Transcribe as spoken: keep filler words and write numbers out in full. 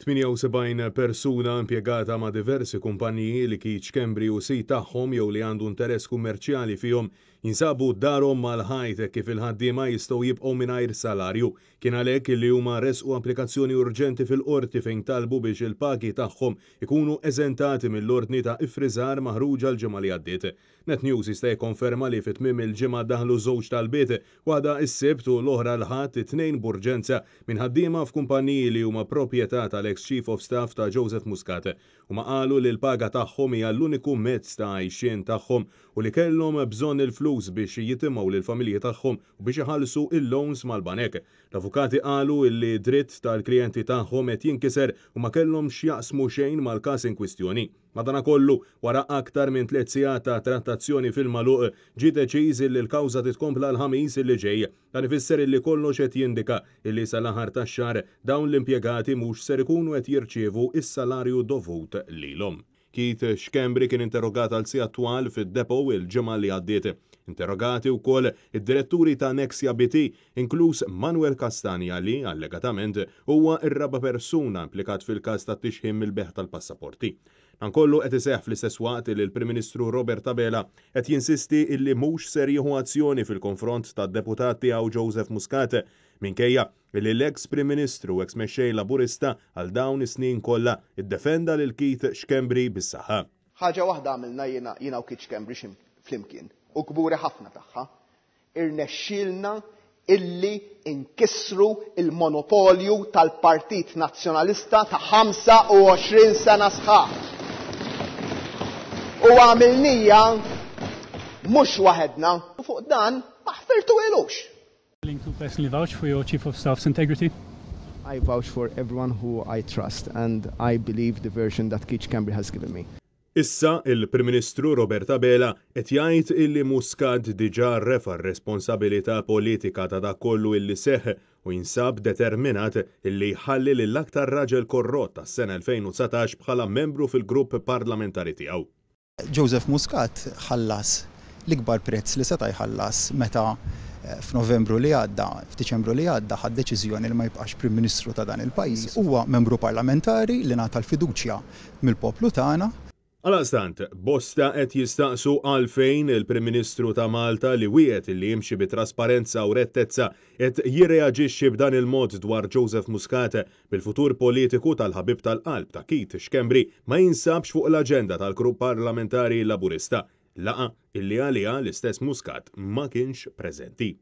tmienja u sebgħin persuna impjegata ma' diversi kumpaniji li Keith Schembri hu sid tagħhom jew li għandu interess kummerċjali fihom jinsabu darhom mal-ħajt kif il-ħaddiema jistgħu jibqgħu mingħajr salarju. Kien għalhekk li huma resqu applikazzjoni urġenti fil-qorti fejn talbu biex il-pagi tagħhom ikunu eżentati mill-ordni ta' iffriżar maħruġa l-ġimgħa li għaddiet. Net News jista' jikkonferma li fi tmiem il-ġimgħa daħlu żewġ talbiet, waħda s-Sibt u l-oħra l-Ħadd, it-tnejn b'urġenza minn ħaddiema f'kumpaniji li huma proprjetà tal-ex Chief of Staff ta' Joseph Muscat. Huma qalu li l-paga tagħhom hija l-uniku mezz ta' għajxien tagħhom u li kellhom bżonn il-flus biex jitimgħu lill-familji tagħhom u biex iħallsu il-loans mal-banek. L-avukati qalu li dritt tal-klijenti tagħhom qed jinkiser u ma kellhom x'jaqsmu xejn mal-każ in kwistjoni. Madanakollu, wara aktar minn tliet sigħat ta' trattazzjoni fil-magħluq, ġie deċiż li l-kawża titkompla l-Ħamis li ġej. Dan ifisser li kollox qed jindika illi sal-aħħar tax-xahar dawn l-impjegati mhux ser ikunu qed jirċievu is-salarju dovut lilhom. Keith Schembri kien interrogat għal sigħat twal fid-depot il-ġimgħa li għaddiet. Interrogati wkoll id-diretturi ta' Nexia B T, inkluż Manuel Castagna, li allegatament huwa ir-raba' persuna implikat fil-każ ta' tixħim mill-bejgħ tal-passaporti. Dan kollu qed iseħħ fl-istess waqt li l-Prim Ministru Robert Abela qed jinsisti illi mhux ser jieħu azzjoni fil-konfront tad-deputat tiegħu Joseph Muscat, minkejja li l-ex Prim Ministru, ex mexxej Laburista għal dawn is-snin kollha, iddefenda lil Keith Schembri bis-saħħa. Ħaġa waħda għamilna jiena jiena u Keith Schembri flimkien u kburi ħafna tagħha. Irnexxielna illi inkissru il-monopolju tal-Partit Nazzjonalista ta' ħamsa u għoxrin sena sħaħ. U għamilnieha mhux waħedna u fuq dan ma ħfirtuhielux. Willing to personally vouch for your Chief of Staff's integrity? I vouch for everyone who I trust and I believe the version that Keith Schembri has given me. Issa il-Prim Ministru Robert Abela qed jgħid illi Muscat diġà refa' responsabilità politika ta' dak kollu illi seħ u jinsab determinat illi jħalli lill-aktar raġel korrott tas-sena elfejn u dsatax bħala membru fil-grupp parlamentari tiegħu. Joseph Muscat ħallas l-ikbar prezz li seta' jħallas meta eh, f'Novembru li għadda, f'Diċembru li għadda, ħa deċiżjoni li ma jibqax Prim Ministru ta' dan il-pajjiż. Huwa membru parlamentari li ngħata l-fiduċja mill-poplu tagħna. Għaldaqstant, bosta qed jistaqsu għalfejn il-Prim Ministru ta' Malta, li wiegħed li jimxi bi trasparenza u rettezza, qed jirreaġixxi b'dan il-mod dwar Joseph Muscat, bil-futur politiku tal-ħabib tal-qalb ta' Keith Schembri ma jinsabx fuq l-aġenda tal-grupp parlamentari Laburista. Laqgħa illi għalija l-istess Muscat ma kienx preżenti.